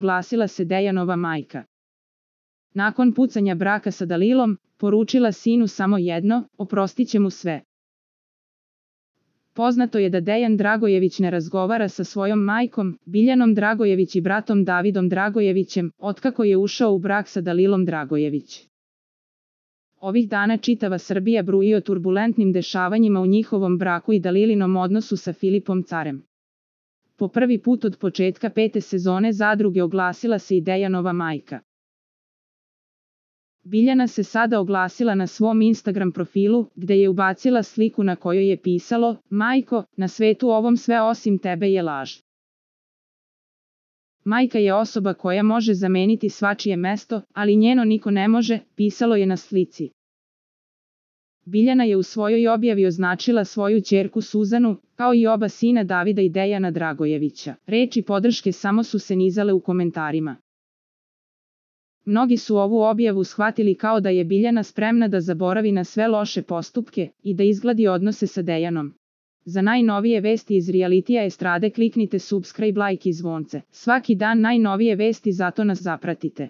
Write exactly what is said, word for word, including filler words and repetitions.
oglasila se Dejanova majka. Nakon pucanja braka sa Dalilom, poručila sinu samo jedno: oprostit će mu sve. Poznato je da Dejan Dragojević ne razgovara sa svojom majkom, Biljanom Dragojević i bratom Davidom Dragojevićem, otkako je ušao u brak sa Dalilom Dragojević. Ovih dana čitava Srbija bruji o turbulentnim dešavanjima u njihovom braku i Dalilinom odnosu sa Filipom Carem. Po prvi put od početka pete sezone Zadruge oglasila se i Dejanova majka. Biljana se sada oglasila na svom Instagram profilu, gde je ubacila sliku na kojoj je pisalo: majko, na svetu ovom sve osim tebe je laž. Majka je osoba koja može zameniti svačije mesto, ali njeno niko ne može, pisalo je na slici. Biljana je u svojoj objavi označila svoju ćerku Suzanu, kao i oba sina Davida i Dejana Dragojevića. Reči podrške samo su se nizale u komentarima. Mnogi su ovu objavu shvatili kao da je Biljana spremna da zaboravi na sve loše postupke i da izgladi odnose sa Dejanom. Za najnovije vesti iz realitija estrade kliknite subscribe, like i zvonce. Svaki dan najnovije vesti, zato nas zapratite.